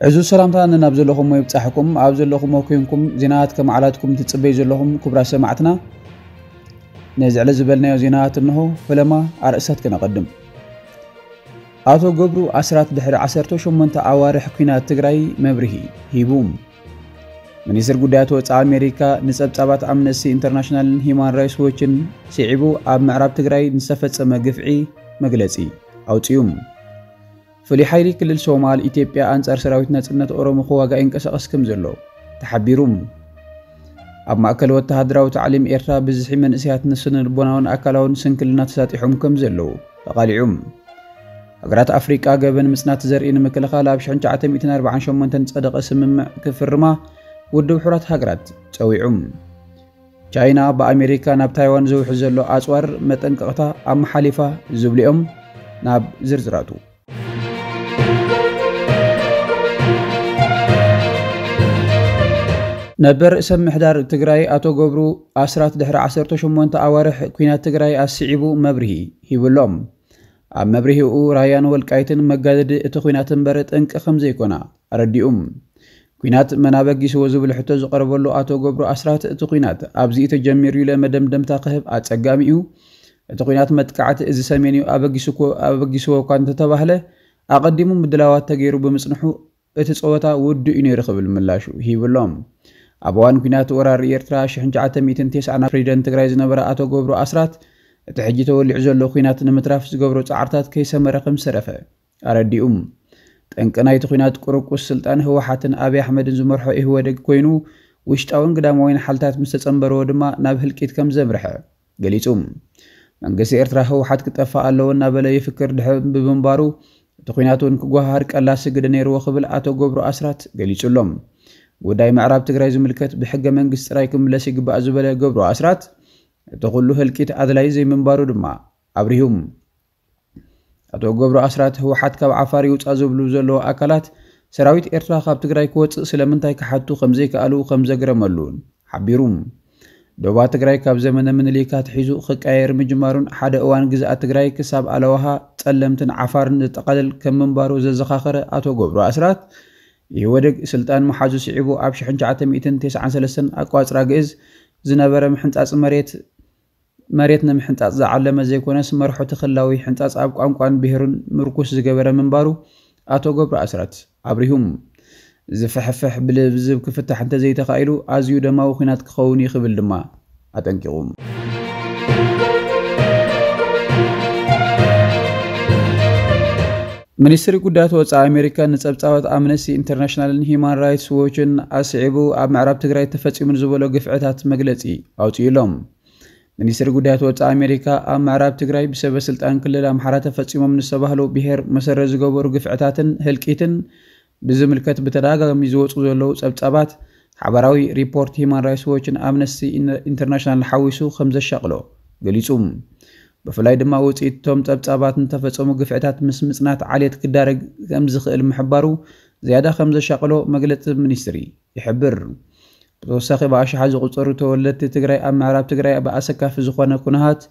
ዕዙዝ ሰላምታ ነናብ ዘለኹሞ ይብጻሕኩም። ኣብ ዘለኹሞ ኮይንኩም ዜናታት ከመዓላትኩም ትጽበዩ ዘለኹም ክቡራት ሰማዕትና፣ ነዚ ዕለት ዝበልናዮ ዜናታት እንሆ። ፈለማ ኣርእስታት ከነቐድም። ኣቶ ገብሩ ኣስራት ድሕሪ ዓሰርተ ሸሞንተ ኣዋርሕ ኲናት ትግራይ መብርሂ ሂቡ። ሚኒስትር ጉዳያት ወጻኢ ኣሜሪካ ንጸብጻባት ኣምነስቲ ኢንተርናሽናልን ሂዩማን ራይትስ ዎችን ስዒቡ ኣብ ምዕራብ ትግራይ ንዝተፈጸመ ግፍዒ መግለጺ ኣውጺኡ። ፍሉይ ሓይሊ ክልል ሶማል ኢትዮጵያ ኣንጻር ሰራዊት ናጽነት ኦሮሞ ክዋጋእ ይንቀሳቐስ ከም ዘሎ ተሓቢሩ። ኣብ ማእከል ወተሃደራዊ ታዕሊም ኤርትራ ብዝሒ መንእሰያት ንስነ ልቦናውን ኣካላውን ስንክልና ተሳጢሖም ከም ዘለዉ ተቓሊዑ። ሃገራት ኣፍሪቃ ገበን ምጽናት ዘርኢ ንምክልኻል ኣብ ሽሕን ትሽዓተ ሚእትን ኣርባዓን ሸሞንተን ዝጸደቐ ስምምዕ ክፍርማ ውድብ ሕቡራት ሃገራት ጸዊዑ። ቻይና ብኣሜሪካ ናብ ታይዋን ዝውሕዝ ዘሎ ኣጽዋር መጠንቀቕታ ኣመሓሊፋ ዝብሉ'ዮም። ናብ ዝርዝራቱ። ነበር ርእሰ ምምሕዳር ትግራይ ኣቶ ገብሩ ኣስራት ድሕሪ ዓሰርተ ሸሞንተ ኣዋርሕ ኲናት ትግራይ ኣስዒቡ መብርሂ ሂብሎም። ኣብ መብርሂኡ ራያን ወልቃይትን መጋደዲ እቲ ኲናት እምበር ጠንቂ ከም ዘይኮና ኣረዲኡ። ኲናት መን ኣበጊስዎ ዝብል ሕቶ ዝቐረበሉ ኣቶ ገብሩ ኣስራት እቲ ኲናት ኣብዚ እዩ ተጀሚሩ ኢለ መደምደምታ ክህብ ኣጸጋሚ እዩ። እቲ ኲናት መጥቃዕቲ እዚ ሰሜን እዩ ኣበጊስዎ እኳ እንተተባህለ ኣቐዲሙ ምድላዋት ተገይሩ ብምጽንሑ እቲ ጸወታ ውዱእ እዩ ነይሩ ክብል ምላሹ ሂብሎም። ኣብ እዋን ኲናት ወራር ኤርትራ ሽሕን ትሽዓተ ሚእትን ተስዓን ፕሬዚደንት ትግራይ ዝነበረ ኣቶ ገብሩ ኣስራት እቲ ሕጂ ተወሊዑ ዘሎ ኲናት ንምትራፍ ዝገብሮ ጻዕርታት ከይሰመረ ከም ዝተረፈ ኣረዲኡ። ጠንቂ ናይቲ ኲናት ቁርቁስ ስልጣን ህወሓትን ኣብይ ኣሕመድን ዝመርሖ ኢህወደግ ኮይኑ ውሽጣውን ግዳማውን ሓልታት ምስ ተጸንበርዎ ድማ ናብ ህልቂት ከም ዘምርሐ ገሊጹ። መንግስቲ ኤርትራ ህወሓት ክጠፍእ ኣለዎ እናበለ ይፍክር ድሕሪ ብምንባሩ እቲ ኲናት እውን ክጓሃር ቀላሲ ግደ ነይርዎ ክብል ኣቶ ገብሩ ኣስራት ገሊጹ ኣሎ። ጉዳይ ምዕራብ ትግራይ ዝምልከት ብሕገ መንግስቲ ጥራይ ክምለስ ይግባእ ዝበለ ገብሩ ኣስራት እቲ ኩሉ ህልቂት ኣድላይ ዘይምንባሩ ድማ ኣብሪሁ። ኣቶ ገብሩ ኣስራት ህወሓት ካብ ዓፋር ይውፃእ ዝብሉ ዘለዉ ኣካላት ሰራዊት ኤርትራ ካብ ትግራይ ክወፅእ ስለምንታይ ክሓቱ ከምዘይከኣሉ ከምዘግረመሉ ሓቢሩ። ዶባት ትግራይ ካብ ዘመነ ምኒልክ ኣትሒዙ ክቀያየር ምጅማሩን ሓደ እዋን ግዝኣት ትግራይ ክሳብ ኣለዋሃ፣ ጸለምትን ዓፋርን ዘጠቓልል ከም ምንባሩ ዘዘኻኸረ ኣቶ ገብሩ ኣስራት ኢህወደግ ስልጣን ምሓዙ ስዒቡ ኣብ ሽሕን ትሽዓተ ሚእትን ተስዓን ሰለስተን ኣቋጽራ ግእዝ ዝነበረ ምሕንጻጽ መሬት መሬት ንምሕንጻጽ ዝዓለመ ዘይኮነስ መርሖ ተኽላዊ ሕንጻጽ ኣብ ቋንቋን ብሄሩን ምርኩስ ዝገበረ ምንባሩ ኣቶ ገብሩ ኣስራት ኣብሪሁ። ዝፍሕፍሕ ብልዝብ ክፍታሕ እንተዘይተኻኢሉ ኣዝዩ ደማዊ ኲናት ክኸውን እዩ ክብል ድማ ኣጠንቂቑ። ሚኒስትሪ ጉዳያት ወጻኢ ኣሜሪካ ንጸብጻባት ኣምነስቲ ኢንተርናሽናልን ሂዩማን ራይትስ ዎችን ኣስዒቡ ኣብ ምዕራብ ትግራይ ተፈጺሙ ንዝበሎ ግፍዕታት መግለጺ ኣውጺኡ ኣሎ። ሚኒስትሪ ጉዳያት ወጻኢ ኣሜሪካ ኣብ ምዕራብ ትግራይ ብሰበ ስልጣን ክልል ኣምሓራ ተፈጺሞም ንዝተባህሉ ብሄር መሰረት ዝገበሩ ግፍዕታትን ህልቂትን ብዝምልከት ብተደጋጋሚ ዝወጹ ዘለዉ ጸብጻባት ሓባራዊ ሪፖርት ሂዩማን ራይትስ ዎችን ኣምነስቲ ኢንተርናሽናል ሓዊሱ ከም ዘሻቕሎ ገሊጹ። ብፍላይ ድማ ውጽኢት እቶም ጸብጻባት ንተፈጸሙ ግፍዕታት ምስ ምጽናት ዓሌት ክዳረግ ከም ዝኽእል ምሕባሩ ዝያዳ ከም ዘሻቕሎ መግለጺ ሚኒስትሪ ይሕብር። ብተወሳኺ ብኣሽሓት ዝቑጸሩ ተወለድቲ ትግራይ ኣብ ምዕራብ ትግራይ ብኣሰካፊ ዝኾነ ኩነታት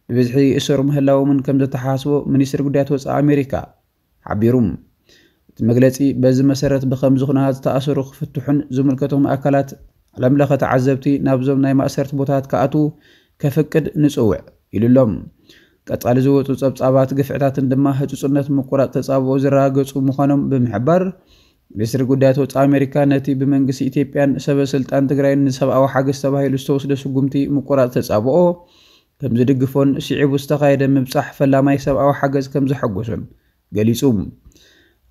ብብዝሒ ይእሰሩ ምህላዎምን ከም ዘተሓሳስቦ ሚኒስትሪ ጉዳያት ወጻኢ ኣሜሪካ ሓቢሩ። እቲ መግለጺ በዚ መሰረት ብኸምዚ ኩነታት ዝተኣሰሩ ክፍትሑን ዝምልከቶም ኣካላት ዓለምለኸ ተዓዘብቲ ናብዞም ናይ ማእሰርቲ ቦታታት ክኣትዉ ከፍቅድ ንጽውዕ ኢሉ ኣሎ። ቀጻሊ ዝወጹ ጸብጻባት ግፍዕታትን ድማ ህጹጽነት ምቁራጽ ተጻብኦ ዝረጋገጹ ምዃኖም ብምሕባር ሚኒስትሪ ጉዳያት ወጻኢ ኣሜሪካ ነቲ ብመንግስቲ ኢትዮጵያን ሰበ ስልጣን ትግራይን ንሰብኣዊ ሓገዝ ተባሂሉ ዝተወስደ ስጉምቲ ምቁራጽ ተጻብኦ ከም ዝድግፎን ስዒቡ ዝተኻየደ ምብጻሕ ፈላማይ ሰብኣዊ ሓገዝ ከም ዘሐጎሶን ገሊጹ።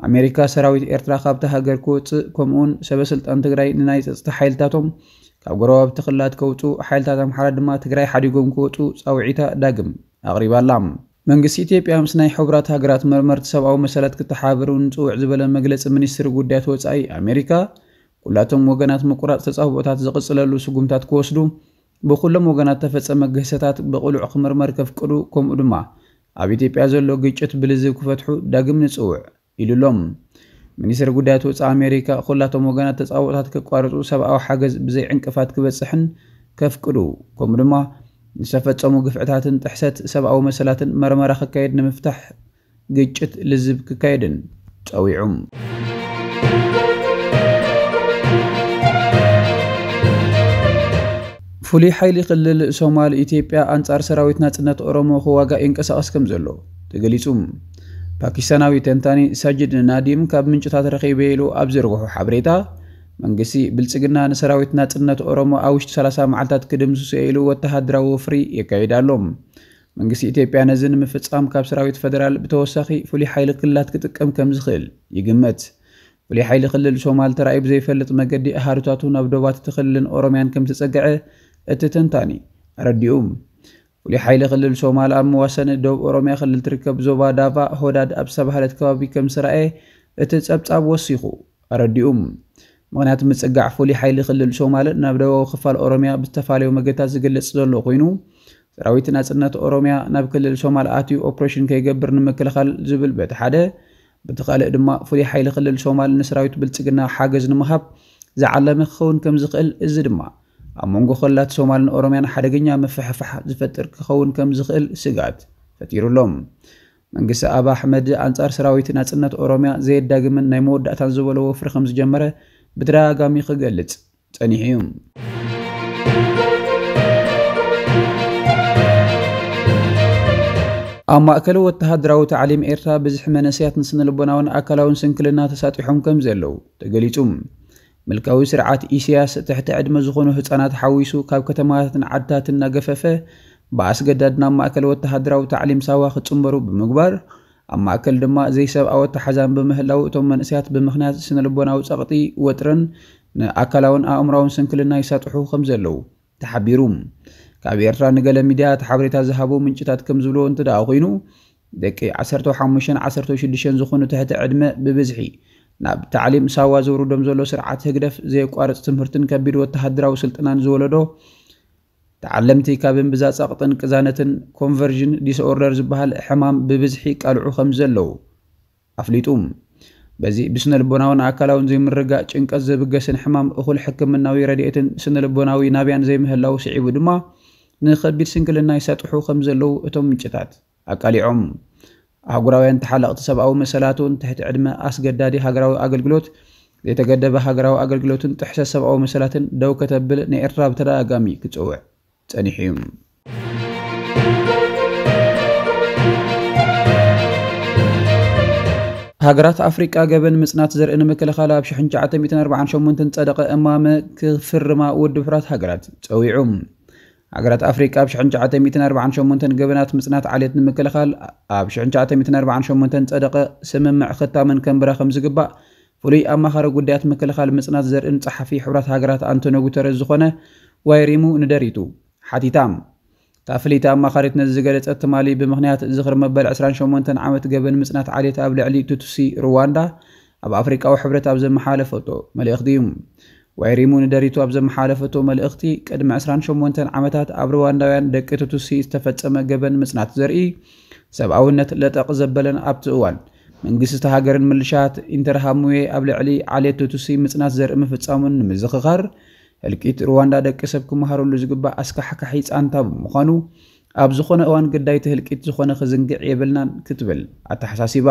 ኣሜሪካ ሰራዊት ኤርትራ ካብታ ሃገር ክወጽእ ከምኡውን ሰበ ስልጣን ትግራይ ንናይ ጸጥታ ሓይልታቶም ካብ ጎረባብቲ ክልላት ከውጽኡ ሓይልታት ኣምሓራ ድማ ትግራይ ሓዲጎም ክወጽኡ ጻውዒታ ዳግም ኣቕሪባ ኣላ። መንግስቲ ኢትዮጵያ ምስ ናይ ሕቡራት ሃገራት መርመርቲ ሰብኣዊ መሰላት ክተሓባበሩ ንጽውዕ ዝበለ መግለጺ ሚኒስትሪ ጉዳያት ወጻኢ ኣሜሪካ ኩላቶም ወገናት ምቁራጽ ተጻብኦታት ዝቕጽለሉ ስጉምታት ክወስዱ ብኩሎም ወገናት ተፈጸመ ግህሰታት ብቕሉዕ ክምርመር ከፍቅዱ ከምኡ ድማ ኣብ ኢትዮጵያ ዘሎ ግጭት ብልዝብ ክፈትሑ ዳግም ንጽውዕ ኢሉ ኣሎ። ሚኒስትሪ ጉዳያት ወጻኢ ኣሜሪካ ኩላቶም ወገናት ተጻብኦታት ከቋርጹ ሰብኣዊ ሓገዝ ብዘይ ዕንቅፋት ክበጽሕን ከፍቅዱ ከምኡ ድማ ንዝተፈጸሙ ግፍዕታትን ጥሕሰት ሰብኣዊ መሰላትን መርመራ ክካየድ ንምፍታሕ ግጭት ልዝብ ክካየድን ጸዊዑ። ፍሉይ ሓይሊ ክልል ሶማል ኢትዮጵያ ኣንጻር ሰራዊት ናጽነት ኦሮሞ ክዋጋእ ይንቀሳቐስ ከም ዘሎ ተገሊጹ። ፓኪስታናዊ ተንታኒ ሳጅድ ናዲም ካብ ምንጭታት ረኺበ ኢሉ ኣብ ዘርግሖ ሓበሬታ፣ መንግስቲ ብልጽግና ንሰራዊት ናጽነት ኦሮሞ ኣብ ውሽጢ ሰላሳ መዓልታት ክድምስሶ ኢሉ ወተሃደራዊ ወፍሪ የካይድ ኣሎ። መንግስቲ ኢትዮጵያ ነዚ ንምፍጻም ካብ ሰራዊት ፈደራል ብተወሳኺ ፍሉይ ሓይሊ ክልላት ክጥቀም ከም ዝኽእል ይግመት። ፍሉይ ሓይሊ ክልል ሶማል ተራእዩ ብዘይፈልጥ መገዲ ኣሃዱታቱ ናብ ዶባት እቲ ክልልን ኦሮምያን ከም ዝተጸግዐ እቲ ተንታኒ ኣረዲኡ። ፍሉይ ሓይሊ ክልል ሶማል ኣብ መዋሰኒ ደቡብ ኦሮምያ ክልል ትርከብ ዞባ ዳቫ ሆዳድ ኣብ ዝተባህለት ከባቢ ከም ዝተራእየ እቲ ጸብጻብ ወሲኹ ኣረዲኡ። ምኽንያት ምጽጋዕ ፍሉይ ሓይሊ ክልል ሶማል ናብ ደቡባዊ ክፋል ኦሮምያ ብዝተፈላለዩ መገድታት ዝግለጽ ዘሎ ኮይኑ፣ ሰራዊት ናጽነት ኦሮምያ ናብ ክልል ሶማል ኣትዩ ኦፕሬሽን ከይገብር ንምክልኻል ዝብል በቲ ሓደ፣ በቲ ካልእ ድማ ፍሉይ ሓይሊ ክልል ሶማል ንሰራዊት ብልጽግና ሓገዝ ንምሃብ ዝዓለመ ክኸውን ከም ዝኽእል፣ እዚ ድማ ኣብ መንጎ ክልላት ሶማልን ኦሮምያን ሓደገኛ ምፍሕፋሕ ዝፈጥር ክኸውን ከም ዝኽእል ስግኣት ፈጢሩ ኣሎ። መንግስቲ ኣብ ኣሕመድ ኣንጻር ሰራዊት ናጽነት ኦሮምያ ዘየዳግምን ናይ መወዳእታን ዝበሎ ወፍሪ ከም ዝጀመረ ብተደጋጋሚ ክገልጽ ጸኒሑ እዩ። ኣብ ማእከል ወተሃደራዊ ታዕሊም ኤርትራ ብዝሒ መንእሰያት ንስነ ልቦናውን ኣካላውን ስንክልና ተሳጢሖም ከም ዘለዉ ተገሊጹ። ምልካዊ ስርዓት ኢሳያስ ትሕቲ ዕድመ ዝኾኑ ህጻናት ሓዊሱ ካብ ከተማታትን ዓድታትን እናገፈፈ ብኣስገዳድ ናብ ማእከል ወተሃደራዊ ታዕሊም ሳዋ ክጽንበሩ ብምግባር፣ ኣብ ማእከል ድማ ዘይሰብኣዊ ኣተሓዛን ብምህላው እቶም መንእሰያት ብምኽንያት ስነ ልቦናዊ ጸቕጢ፣ ወጥርን ንኣካላውን ኣእምራውን ስንክልና ይሳጥሑ ከም ዘለዉ ተሓቢሩ። ካብ ኤርትራ ንገለ ሚድያታት ሓበሬታ ዝሃቡ ምንጭታት ከም ዝብልዎ እንተ ደኣ ኮይኑ፣ ደቂ ዓሰርተ ሓሙሽተን ዓሰርተ ሽዱሽተን ዝኾኑ ትሕቲ ዕድመ ብብዝሒ ናብ ታዕሊም ሳዋ ዘውርዶም ዘሎ ስርዓት ህግደፍ ዘየቋርጽ ትምህርትን ከቢድ ወተሃደራዊ ስልጠናን ዝወለዶ ተዓለምቲ ካብ እምብዛ ጸቕጥን ቅዛነትን ኮንቨርዥን ዲስኦርደር ዝበሃል ሕማም ብብዝሒ ይቃልዑ ከም ዘለዉ ኣፍሊጡ። በዚ ብስነ ልቦናውን ኣካላውን ዘይምርጋእ ጭንቀት ዘብገስን ሕማም እኹል ሕክምናዊ ረድኤትን ስነ ልቦናዊ ናብያን ዘይምህላው ስዒቡ ድማ ንኸቢድ ስንክልና ይሳጥሑ ከም ዘለዉ እቶም ምንጭታት ኣቃሊዖም። ኣህጉራውያን ተሓለቕቲ ሰብኣዊ መሰላት እውን ትሕቲ ዕድመ ኣስገዳዲ ሃገራዊ ኣገልግሎት፣ ዘይተገደበ ሃገራዊ ኣገልግሎትን ጥሕሰት ሰብኣዊ መሰላትን ደው ከተብል ንኤርትራ ብተደጋጋሚ ክጽውዕ ጸኒሑ እዩ። ሃገራት ኣፍሪቃ ገበን ምጽናት ዘርኢ ንምክልኻል ኣብ ሽሕን ትሽዓተ ሚእትን ኣርባዓን ሸሞንተን ጸደቐ እማመ ክፍርማ ውድብ ሕቡራት ሃገራት ጸዊዑ። ሃገራት ኣፍሪቃ ኣብ ሽሕን ትሽዓተ ሚእትን ኣርባዓን ሸሞንተን ገበናት ምጽናት ዓሌት ንምክልኻል ኣብ ሽሕን ትሽዓተ ሚእትን ኣርባዓን ሸሞንተን ጸደቐ ስምምዕ ክታመን ከንብራ ከም ዝግባእ ፍሉይ ኣማኻሪ ጉዳያት ምክልኻል ምጽናት ዘርእን ጸሓፊ ሕቡራት ሃገራት ኣንቶኒዮ ጉተረዝ ዝኾነ ዋይሪሙ ንደሪቱ ሓቲታ። እታ ፍልይቲ ኣማኻሪት ነዚ ዝገለጸት ትማሊ ብምኽንያት ዝኽሪ መበል ዕስራን ሸሞንተን ዓመት ገበን ምጽናት ዓሌት ኣብ ልዕሊ ቱትሲ ሩዋንዳ ኣብ ኣፍሪቃዊ ሕብረት ኣብ ዘመሓላለፈቶ መልእኽቲ እዩ። ዋይሪሙ ንደሪቱ ኣብ ዘመሓላለፈቶ መልእኽቲ፣ ቅድሚ ዕስራን ሸሞንተን ዓመታት ኣብ ሩዋንዳውያን ደቂ ቱትሲ ዝተፈጸመ ገበን ምጽናት ዘርኢ ሰብኣውነት ለጠቕ ዘበለን ኣብቲ እዋን መንግስቲ እታ ሃገርን ምልሻት ኢንተርሃምዌ ኣብ ልዕሊ ዓሌት ቱትሲ ምጽናት ዘርኢ ምፍጻሙን ንምዝኽኻር፣ ህልቂት ሩዋንዳ ደቂ ሰብ ክመሃረሉ ዝግባእ ኣስካሕካሒ ጻንታ ብምዃኑ፣ ኣብ ዝኾነ እዋን ግዳይቲ ህልቂት ዝኾነ ክዝንግዕ የብልናን ክትብል ኣተሓሳሲባ።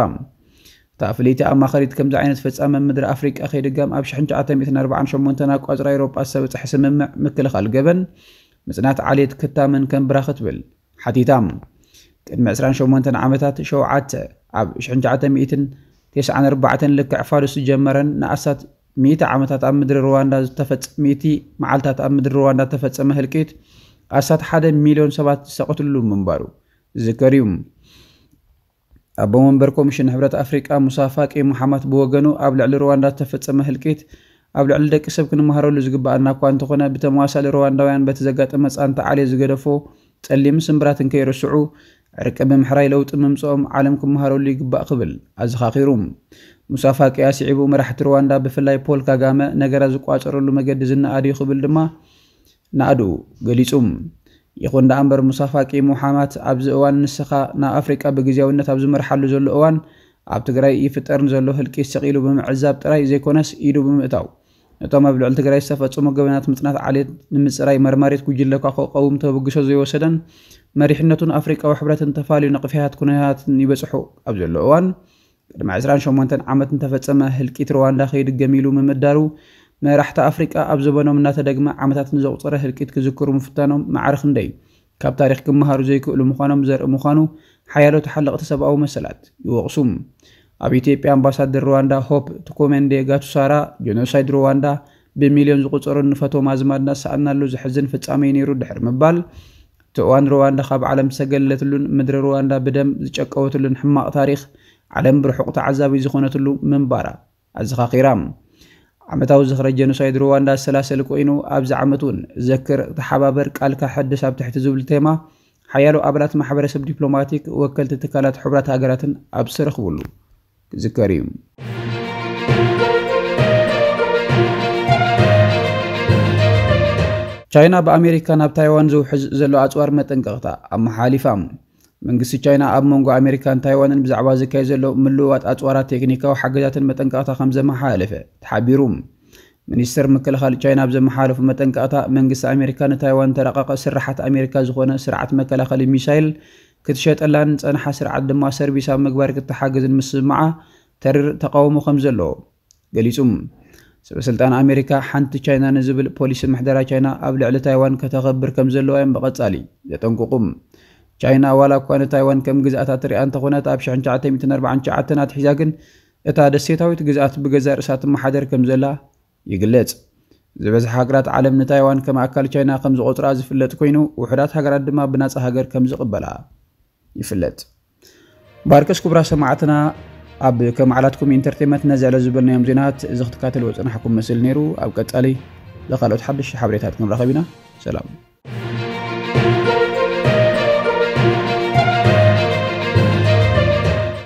እታ ፍልይቲ ኣማኻሪት ከምዚ ዓይነት ፈጻሚ ኣብ ምድሪ ኣፍሪቃ ከይድገም ኣብ ሽሕን ትሽዓተ ሚእትን ኣርባዓን ሸሞንተን ኣቋጽራ ኤውሮጳ ዝተበጽሐ ስምምዕ ምክልኻል ገበን ምጽናት ዓሌት ክታመን ከንብራ ክትብል ሓቲታ። ቅድሚ ዕስራን ሸሞንተን ዓመታት ሸውዓተ ኣብ ሽሕን ትሽዓተ ሚእትን ተስዓን ኣርባዕተን ልክዕ ፋዱስ ዝጀመረን ንኣስታት ሚእቲ ዓመታት ኣብ ምድሪ ሩዋንዳ ዝተፈጸ-፣ ሚእቲ መዓልታት ኣብ ምድሪ ሩዋንዳ ዝተፈጸመ ህልቂት ኣስታት ሓደ ሚልዮን ሰባት ዝተቐትልሉ ምንባሩ ዝዝከር እዩ። ኣቦ መንበር ኮሚሽን ሕብረት ኣፍሪቃ ሙሳ ፋቂ ሙሓማት ብወገኑ ኣብ ልዕሊ ሩዋንዳ ዝተፈጸመ ህልቂት ኣብ ልዕሊ ደቂ ሰብ ክንመሃረሉ ዝግባኣና እኳ እንተኾነ ብተመዋሳሊ ሩዋንዳውያን በቲ ዘጋጠመ ጻንታ ዓሌት ዝገደፎ ጸሊም ስምብራትን ከይርስዑ ዕርቂ ብምሕራይ ለውጢ ምምጽኦም ዓለም ክመሃረሉ ይግባእ ክብል ኣዘኻኺሩ። ሙሳ ፋቂ ኣስዒቡ መራሕቲ ሩዋንዳ ብፍላይ ፖል ካጋመ ነገራት ዝቋጸረሉ መገዲ ዝነኣድ እዩ ክብል ድማ ናእዱ ገሊጹ። ይኹን ደኣ እምበር ሙሳ ፋቂ ሙሓማት ኣብዚ እዋን ንስኻ ናብ ኣፍሪቃ ብግዜያውነት ኣብ ዝመርሓሉ ዘሎ እዋን ኣብ ትግራይ ይፍጠር ንዘሎ ህልቂት ሰቒሉ ብምዕዛብ ጥራይ ዘይኮነስ ኢዱ ብምእታው ነቶም ኣብ ልዕሊ ትግራይ ዝተፈጸሙ ገበናት ምጽናት ዓሌት ንምጽራይ መርማሪት ጉጅለ ኳ ክቐውም ተበግሶ ዘይወሰደን መሪሕነቱን ኣፍሪቃዊ ሕብረትን ተፋልዩ ነቕፊሃት ኩነታትን ይበጽሑ ኣብ ዘሎ እዋን ቅድሚ ዕስራን ሸሞንተን ዓመት እንተፈጸመ ህልቂት ሩዋንዳ ከይድገም ኢሉ ምምዳሩ መራሕቲ ኣፍሪቃ ኣብ ዘበኖም እናተደግመ ዓመታት ንዘቑጸረ ህልቂት ክዝክሩ ምፍታኖም ማዕረ ክንደይ ካብ ታሪኽ ክመሃሩ ዘይክእሉ ምዃኖም ዘርኢ ምዃኑ ሓያሎ ተሓለቕቲ ሰብኣዊ መሰላት ይወቕሱ። ኣብ ኢትዮጵያ ኣምባሳደር ሩዋንዳ ሆፕ ቱኮመንዴ ጋቱሳራ፣ ጀኖሳይድ ሩዋንዳ ብሚልዮን ዝቑጸሩ ንፈትዎም ኣዝማድና ዝሰኣናሉ ዘሕዝን ፍጻሜ እዩ ነይሩ ድሕሪ ምባል፣ እቲ እዋን ሩዋንዳ ካብ ዓለም ዝተገለለትሉን ምድሪ ሩዋንዳ ብደም ዝጨቀወትሉን ሕማቕ ታሪኽ ዓለም ብርሑቕ ተዓዛቢ ዝኾነትሉ ምንባራ ኣዘኻኺራ። ዓመታዊ ዝኽረ ጀኖሳይድ ሩዋንዳ ዝሰላሰል ኮይኑ፣ ኣብዚ ዓመት እውን ዘክር፣ ተሓባበር፣ ቃልካ ሕድስ ኣብ ትሕቲ ዝብል ቴማ ሓያሎ ኣባላት ማሕበረሰብ ዲፕሎማቲክ፣ ወከልቲ ትካላት ሕቡራት ሃገራትን ኣብ ዝተረኽብሉ ክዝከር እዩ። ቻይና ብኣሜሪካ ናብ ታይዋን ዝውሕዝ ዘሎ ኣጽዋር መጠንቀቕታ ኣመሓሊፋ። መንግስቲ ቻይና ኣብ መንጎ ኣሜሪካን ታይዋንን ብዛዕባ ዝካየድ ዘሎ ምልውዋጥ ኣጽዋራት ቴክኒካዊ ሓገዛትን መጠንቀቕታ ከም ዘመሓላለፈ ተሓቢሩ። ሚኒስተር ምክልኻል ቻይና ኣብ ዘመሓላለፉ መጠንቀቕታ፣ መንግስቲ ኣሜሪካ ንታይዋን ተረቐቐ ስርሓት ኣሜሪካ ዝኾነ ስርዓት መከላኸሊ ሚሳይል ክትሸጠላን ጸንሓ ስርዓት ድማ ሰርቪስ ኣብ ምግባር ክትሓገዝን ምስምዓ ተሪር ተቃውሞ ከም ዘለዎ ገሊጹ። ሰበ ስልጣን ኣሜሪካ ሓንቲ ቻይና ንዝብል ፖሊሲ ምሕደራ ቻይና ኣብ ልዕሊ ታይዋን ከተኸብር ከም ዘለዋ እዮም ብቐጻሊ ዘጠንቅቑ። ቻይና ዋላ እኳ ንታይዋን ከም ግዝኣታ ትሪኣ እንተኾነት፣ ኣብ ሽሕን ትሽዓተ ሚእትን ኣርባዓን ትሽዓተን ኣትሒዛ ግን እታ ደሴታዊት ግዝኣት ብገዛእ ርእሳ ትመሓደር ከም ዘላ ይግለጽ። ዝበዝሓ ሃገራት ዓለም ንታይዋን ከም ኣካል ቻይና ከም ዝቖጽራ ዝፍለጥ ኮይኑ፣ ውሑዳት ሃገራት ድማ ብናጻ ሃገር ከም ዝቕበላ ይፍለጥ። ባርከስ ክቡራት ሰማዕትና፣ ኣብ ከመዓላትኩም ኢንተርቴንመንት ነዚ ዕለት ዝበልናዮም ዜናት እዚ ክትካተልዎ ዝጸናሕኩም መስል ነይሩ። ኣብ ቀጻሊ ብኻልኦት ሓደሽቲ ሓበሬታት ክንራኸብ ኢና። ሰላም።